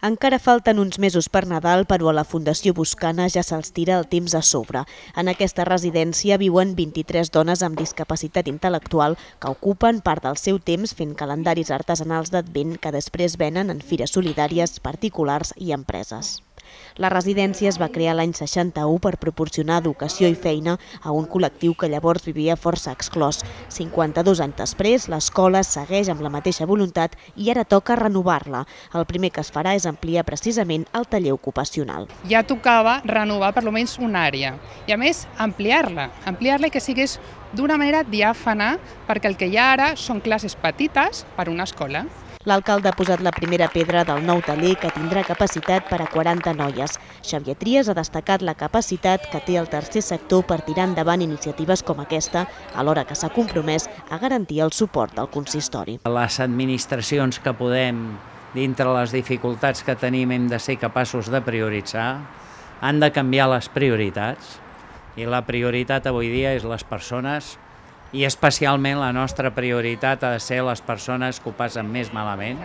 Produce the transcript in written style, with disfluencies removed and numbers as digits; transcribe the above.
Encara falten uns mesos per Nadal, però a la Fundació Boscana ja se'ls tira el temps a sobre. En aquesta residència viuen 23 dones amb discapacitat intel·lectual que ocupen part del seu temps fent calendaris artesanals d'Advent que després venen en fires solidàries, particulars i empreses. La residència es va crear l'any 61 per proporcionar educació i feina a un col·lectiu que llavors vivia força exclòs. 52 anys després, l'escola segueix amb la mateixa voluntat i ara toca renovar-la. El primer que es farà és ampliar precisament el taller ocupacional. Ja tocava renovar per almenys una àrea i a més ampliar-la i que sigués d'una manera diàfana, perquè el que hi ha ara són classes petites per a una escola. L'alcalde ha posat la primera pedra del nou taller que tindrà capacitat per a 40 noies. Xavier Trias ha destacat la capacitat que té el tercer sector per tirar endavant iniciatives com aquesta, alhora que s'ha compromès a garantir el suport del consistori. Les administracions que podem, dintre les dificultats que tenim, hem de ser capaços de prioritzar, han de canviar les prioritats i la prioritat avui dia és les persones i especialment la nostra prioritat ha de ser les persones que ho passen més malament.